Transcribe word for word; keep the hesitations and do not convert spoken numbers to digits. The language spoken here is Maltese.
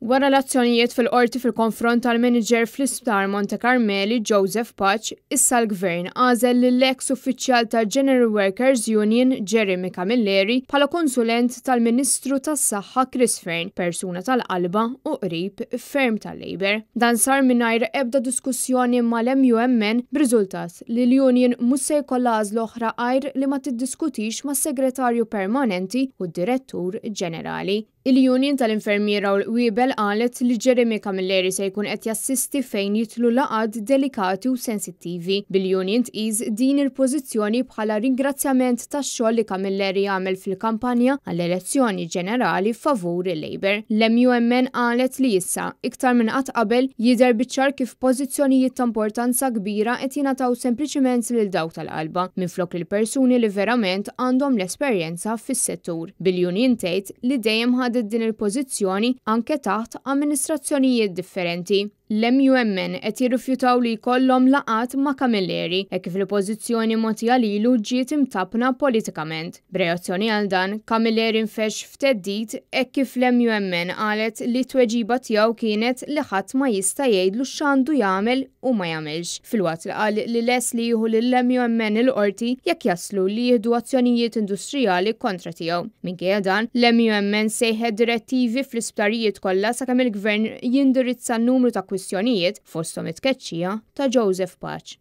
Wara l-azzjonijiet fil-qorti fil-konfront tal-manager fl-isptar Monte Carmeli, Joseph Pace, issa l-gvern għażel lill-ex uffiċjal ta' General Workers Union Jeremy Camilleri bħala konsulent tal-Ministru tas-Saħħa Chris Fearne, persuna tal-qalba u qrib ferm tal-Labour. Dan sar mingħajr ebda diskussjoni mal-M U M N, b'riżultat li l-Union mhux se jkollha għażla oħra għajr li ma tiddiskutix mas-segretarju permanenti u d-direttur ġenerali. Il-Union tal-Infermiera u l-Qwiebel qalet li Jeremy Camilleri se jkun qed jassisti fejn jidħlu laqgħat delikati u sensittivi. Bil-Union tqis din il-pożizzjoni bħala ringrazzjament tax-xogħol li Camilleri għamel fil-kampanja għall-elezzjoni ġenerali favur il-Labour. L-M U M N qalet li issa, iktar minn qatt qabel, jidher biċ-ċar kif pożizzjonijiet ta' importanza kbira qed jingħataw sempliċiment lil dawk tal-qalba minflok lil persuni li verament għandhom l-esperjenza fis-settur. Bil-Union tgħid li dejjem ħadet din il-pożizzjoni anke taħt amministrazzjonijiet differenti. L-M U M N qed jirrifjutaw li jkollhom laqgħat ma' Camilleri e kif il-pożizzjoni mogħtija lilu ġiet imtappna politikament. B'reazzjoni għal dan, Camilleri nfexx f'theddid e kif l-M U M N qalet li tweġiba tiegħu kienet li ħadd ma jista' jgħidlu x'għandu jagħmel u ma jagħmilx. Filwaqt li qal li lest li jieħu lill-M U M N il-qorti jekk jaslu li jieħdu azzjonijiet industrijali kontra tiegħu. Minkejja dan, l-M U M N sejħet direttivi fl-isptarijiet kollha sakemm il-gvern jindirizza n-numru ta' kwistjonijiet, fosthom it-tkeċċija ta' Joseph Pace.